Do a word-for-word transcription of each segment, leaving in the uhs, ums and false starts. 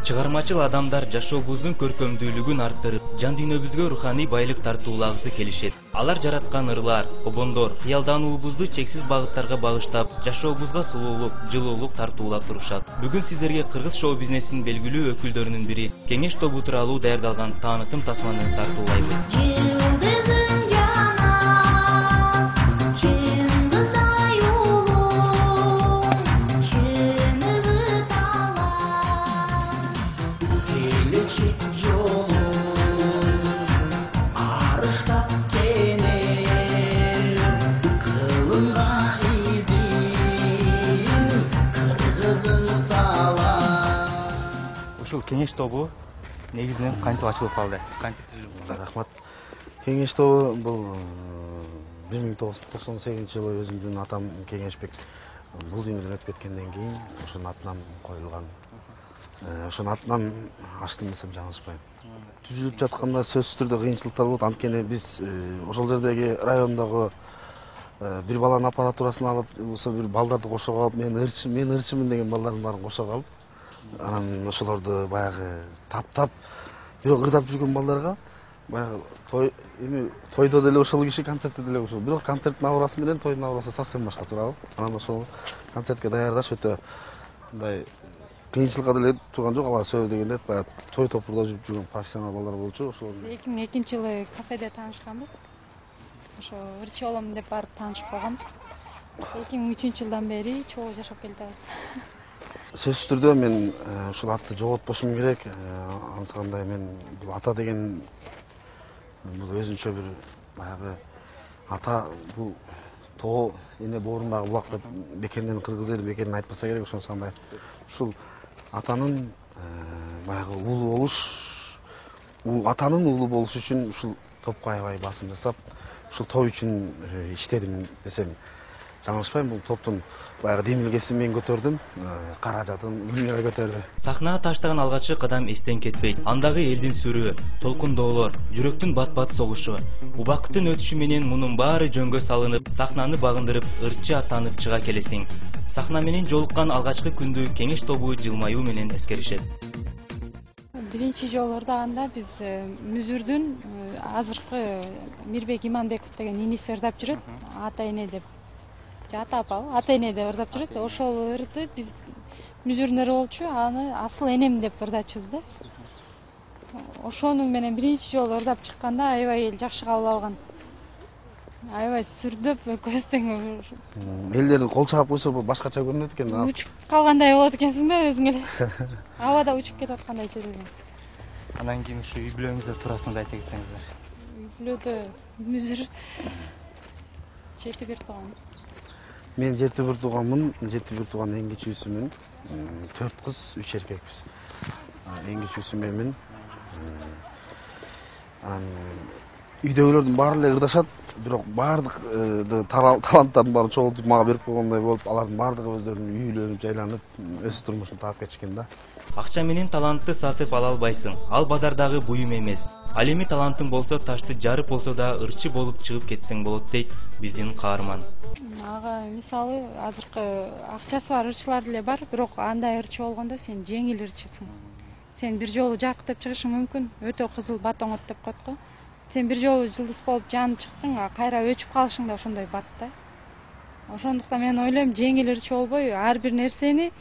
Чыгармачыл адамдар жашообуздун көркөмдүүлүгүн арттырып, жан дүйнөбүзгө руханий байлык тартуулагысы келишет. Алар жараткан ырлар, обондор, кыялдануубузду чексиз багыттарга багыштап, жашообузга сулуулук, жылуулук тартуулап турушат. Бүгүн сиздерге кыргыз шоу-бизнесинин белгилүү өкүлдөрүнүн бири Кеңеш тобу тууралуу даярдалган таанытым тасманы тартуулайбыз. Ушул Кеңеш тобу негизинен кантип ачылып калды? Рахмат. Кеңеш тобу бул бир миң тогуз жүз токсон сегизинчи жылы өзүмдүн атам Кеңешбек бул дүйнөдөн өтүп кеткенден кийин ошонун атынан коюлган. Ошонун атынан ачтым десем жаңылышпайм. Түзүлүп жатканда сөзсүз түрдө кыйынчылыктар болот. Анткени биз ошол жердеги райондогу бир баланын аппаратурасын алып, болсо бир балдарды кошо калып, мен ырчы, мен ырчымын деген балдардын баарын кошо калып, анан ошолорду баягы таптап, бирок ырдап жүргөн балдарга баягы той эми тойдо деле ошол киши, концертте деле ошол. Бирок концерттин аурасы менен тойдун аурасы совсем башка туурабы? Анан ошол концертке даярдаш өтө мындай кыйынчылыкка деле турган жок. Алар сөзү дегенде баягы той топурда жүрүп жүргөн профессионал балдар болчу. Ошол эки миң экинчи жылы кафеде таанышканбыз. Ошо ырчы болом деп барып таанышып калганбыз. эки миң үчүнчү жылдан бери чогуу жашап келатабыз. Сөзсүз түрдө мен ушул атты жоготпошум керек. Анысы кандай, мен бул ата деген бул өзүнчө бир баягы ата, бул тоо эне боорундагы булак деп бекеринен кыргыз эли бекеринен айтпаса керек. Ошонусу кандай ушул атанын баягы уулу болуш, атанын уулу болуш үчүн ушул топко аябай басым жасап, ушул той үчүн иштедим десем жаңылышпайм. Бул топтун баягы демилгесин мен көтөрдүм, каражатын дүйнөгө көтөрдүм. Сахнага таштаган алгачкы кадам эстен кетпейт. Андагы элдин сүрү, толкундоолор, жүрөктүн бат-бат согушу. Убакыттын өтүшү менен мунун баары жөнгө салынып, сахнаны багындырып, ырчы аттанып чыга келесиң. Сахна менен жолуккан алгачкы күндү Кеңеш тобу жылмаюу менен эскеришет. Биринчи жолу ырдаганда биз Мүзүрдүн азыркы Мирбек Иманбеков деген иниси ырдап жүрөт. Ата эне деп, ата апа, ата эне деп ырдап жүрөт. Ошол ырды биз Мүзүрдүн ыры болчу, аны асыл энем деп ырдачубуз да биз. Ошону менен биринчи жолу ырдап чыкканда аябай эл жакшы кабыл алган. Аябай сүрдөп, көз тең. Элдер кол чаап койсо башкача көрүнөт экен. Учуп калгандай болот экенсиң да өзүң эле. Абада учуп кетип аткандай сезилген. Анан кийин ушу үй бүлөңүздөр туурасында айта кетсеңиздер. Үй бүлөдө Мүзүр жети бир тууган. Мен жети бир тууганмын, жети бир тууган эң кичүүсүмүн. төрт кыз, үч эркекпиз. Эң кичүүсү менмин. Анан үйдөгүлөрдүн баары эле ырдашат, бирок баардык таланттардын баарын чогултуп мага берип койгондой болуп, алардын баардыгы өздөрүнүн үйлөрүн жайланып, өз турмушун таап кетишкен да. Акча менен талантты сатып ала албайсың. Ал базардагы буюм эмес. Ал эми талантың болсо ташты жарып болсо да ырчы болуп чыгып кетсең болот дейт биздин каарман. Ага мисалы азыркы акчасы бар ырчылар деле бар, бирок андай ырчы болгондо сен жеңил ырчысың. Сен бир жолу жаркырап чыгышың мүмкүн, өтө кызыл батоңот деп коет го. Сен бир жолу жылдыз болуп жанып чыктың, кайра өчүп калышың да ошондой бат да. Ошондуктан мен ойлойм, жеңил ырчы болбой, ар бир нерсени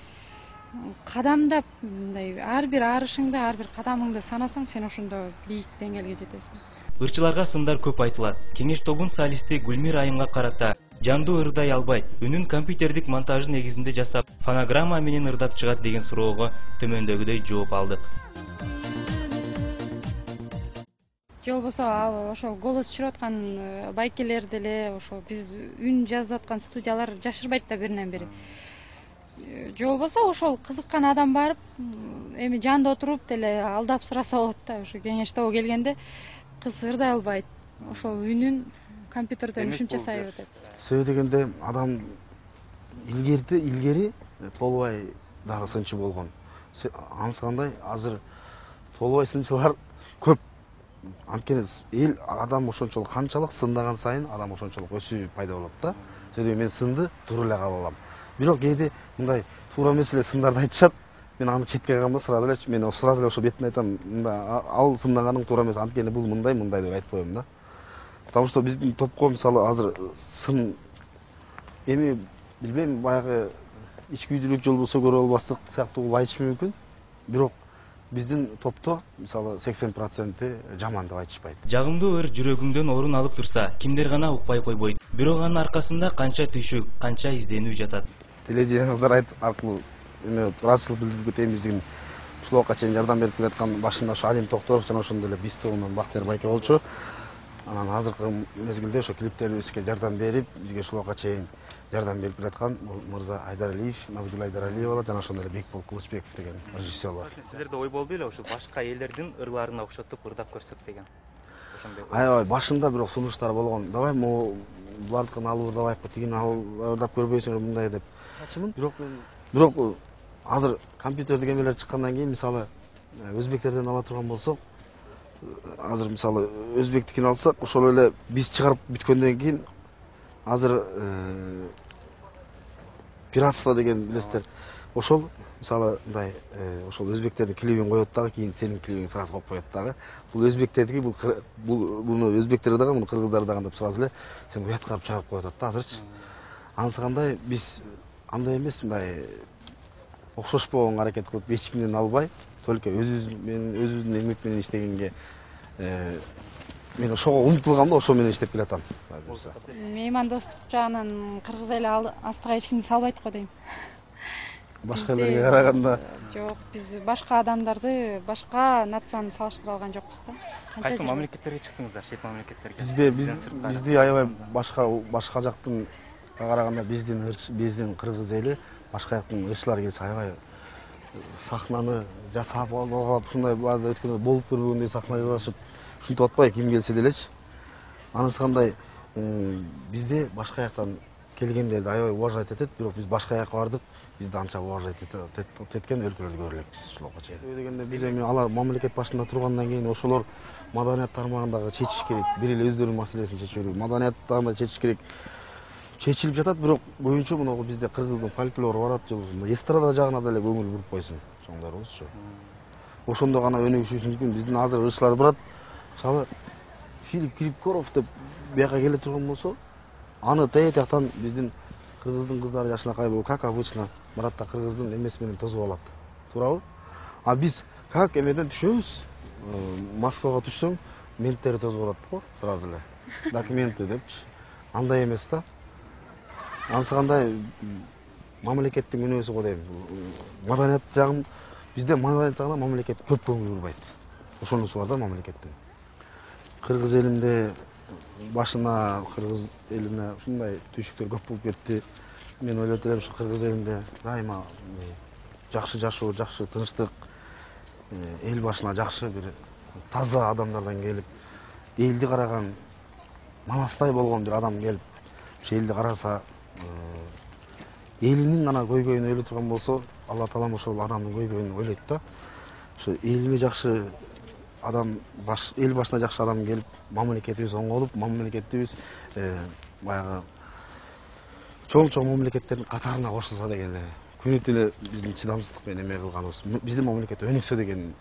кадамдап, мындай ар бир арышыңды, ар бир кадамыңды санасаң, сен ошондо бийик деңгээлге жетесиң. Ырчыларга сындар көп айтылат. Кеңеш тобунун солисти Гүлмир Айымга карата жандуу ырдай албайт, үнүн компьютердик монтажы негизинде жасап, фонограмма менен ырдап чыгат деген суроого төмөндөгүдөй жооп алдык. Же болбосо ал ошол голос чыгарып аткан байкелер деле, ошо биз үн жазып аткан студиялар жашырбайт да биринен бири. Же болбосо ошол кызыккан адам барып, эми жанда отуруп деле алдап сураса болот да. Ошо Кеңеш тобу келгенде кыз ырдай албайт. Ошол үнүн компьютерден үшүм жасай берет. Себеби дегенде адам илгерде илгери толбай дагы сынчы болгон. Анысы кандай, азыр толбай сынчылар көп. Анткени эл адам ошончолук канчалык сындаган сайын адам ошончолук өсүү пайда болот да. Себеби мен сынды туура эле кабыл алам. Бирок кээде мындай туура эмес эле сындарды айтышат. мен аны четке кайганда сразу эле мен сразу эле ошо бетине айтам, мындай ал сындаганың туура эмес, анткени бул мындай мындай деп айтып коем да. Потому что биздин топко мисалы азыр сын эми билбейм, баягы ичкүйдүүлүк жол болсо көрө албастык сыяктуу кылып айтыш мүмкүн. Бирок биздин топто мисалы сексен проценти жаман деп айтышпайт. Жагымдуу ыр жүрөгүңдөн орун алып турса, кимдер гана укпай койбойт. Бирок анын аркасында канча түйшүк, канча изденүү жатат. Теледидениңиздер аркылуу эме ыраазычылык билдирип кетейин, биздин ушул убакка чейин жардам берип келаткан башында ошо Алим Токторов жана ошондой эле биз тобунан Бактыяр Байке болчу. Анан азыркы мезгилде ошо клиптерибизге жардам берип, бизге ушул убакка чейин жардам берип келаткан бул мырза Айдаралиев, Назгүл Айдаралиева жана ошондой эле Бекбол Кылычбеков деген режиссер бар. Силерде ой болду беле ушул башка элдердин ырларына окшотуп ырдап көрсөк деген? Ошондой. Аябай башында бирок сунуштар болгон. Давай могу булардыкын алып ырдабайкпы, тигини алып ырдап көрбөйсүңөр мындай деп. Чачымын. Бирок бирок азыр компьютердик эмелер чыккандан кийин мисалы өзбектерден ала турган болсок, азыр мисалы өзбектикин алсак, ошол эле биз чыгарып бүткөндөн кийин азыр пиратство деген билесиздер. Ошол мисалы мындай ошол өзбектердин клибин коет дагы, кийин сенин клибиңди сразу коюп коет дагы. Бул өзбектердики, бул бул буну өзбектер дагы, муну кыргыздар дагы деп сразу эле сен уяткарып чыгарып коюп атат да азырчы. Анысы кандай, биз андай эмес, мындай окшошпогонго аракет кылып эч кимден албай, только өзүбүз менен өзүбүздүн эмгек менен иштегенге мен ошого умтулгам да, ошо менен иштеп келатам. Меймандостук жагынан кыргыз эли астыга эч кимди салбайт го дейм. Башка элерге караганда жок, биз башка адамдарды, башка нацияны салыштыра алган жокпуз да. Кайсы мамлекеттерге чыктыңыздар, чет мамлекеттерге? Бизде бизди аябай башка башка жактын караганда биздин биздин кыргыз эли башка жактын ырчылары келсе аябай сахнаны жасап алып, ушундай баада өткөндө болуп көрбөгөндөй сахна жасашып, ушинтип атпай ким келсе делечи. Анысы кандай, бизде башка жактан келгендерди аябай уважать этет, бирок биз башка жакка бардык, бизди анча уважать эткен өлкөлөрдү көрө элекпиз ушул убакка чейин. Дегенде биз эми алар мамлекет башында тургандан кийин ошолор маданият тармагындагы чечиш керек, бир эле өздөрүнүн маселесин чечүү керек, маданият тармагында чечиш керек. Чечилип жатат, бирок көбүнчө мына бизде кыргыздын фольклору барат, жолу эстрада жагына деле көңүл буруп койсун чоңдорубузчу. Ошондо гана өнүгүшүбүз мүмкүн. Биздин азыр ырчылар барат, мисалы Филипп Киркоров деп бияка келе турган болсо, аны тетяктан биздин кыргыздын кыздары жакшынакай болуп, как обычно, барат да кыргыздын эмеси менен тосуп алат. Туурабы? А биз как эмеден түшөбүз? Москвага түшсөң, менттер тосуп алат го, сразу эле. Документы депчи. Андай эмес да. Анысы кандай мамлекеттин үнөөсү го дейм. Маданият жагын бизде маданият жагына мамлекет көп көңүл бурбайт. Ошонусу бар да мамлекеттин. Кыргыз элинде башына кыргыз элине ушундай түйшүктөр көп болуп кетти. Мен ойлойт элем ушу кыргыз элинде дайыма жакшы жашоо, жакшы тынчтык, эл башына жакшы бир таза адамдардан келип, элди караган манастай болгон бир адам келип, ошо элди караса, элинин гана көйгөйүн ойлой турган болсо, Алла таалам ошол адамдын көйгөйүн ойлойт да. Ошо элине жакшы адам, баш эл башына жакшы адам келип, мамлекетибиз оңолуп, мамлекетибиз баягы чоң-чоң мамлекеттердин катарына кошулса деген эле. Күнү түнү биздин чыдамсыздык менен эме кылганыбыз, биздин мамлекет өнүксө деген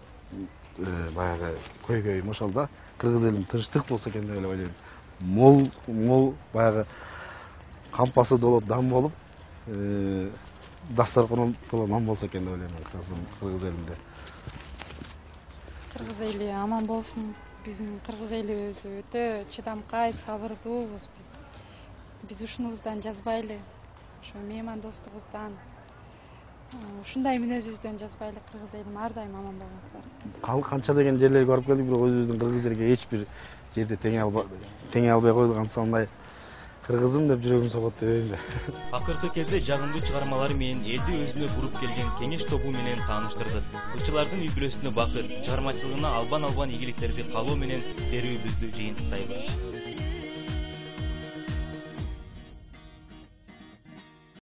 баягы көйгөйүм ошол да. Кыргыз элин тынчтык болсо экен деп эле ойлойм. Мол, мол баягы кампасы долот дам болуп, дасторкону толо нан болсо экен деп ойлойм кыргыз элинде. Кыргыз эли аман болсун. Биздин кыргыз элибиз өтө чыдамкай, сабырдуубуз биз. Биз ушунубуздан жазбайлы. Ошо меймандостугубуздан, ушундай мүнөзүбүздөн жазбайлы. Кыргыз элим ар дайым аман болуңуздар. Канча деген жерлерге барып келдик, бирок өзүбүздүн кыргыз жерге эч бир жерде теңе албай, теңе албай койдук. Ансандай кыргызым деп жүрөгүм согот дебейм да. Акыркы кезде жагымдуу чыгармалары менен элди өзүнө буруп келген кеңеш тобу менен тааныштырдык. Ырчылардын үй бүлөсүнө бакыт, чыгармачылыгына албан албан ийгиликтерди каалоо менен берүүбүздү жыйынтыктайбыз.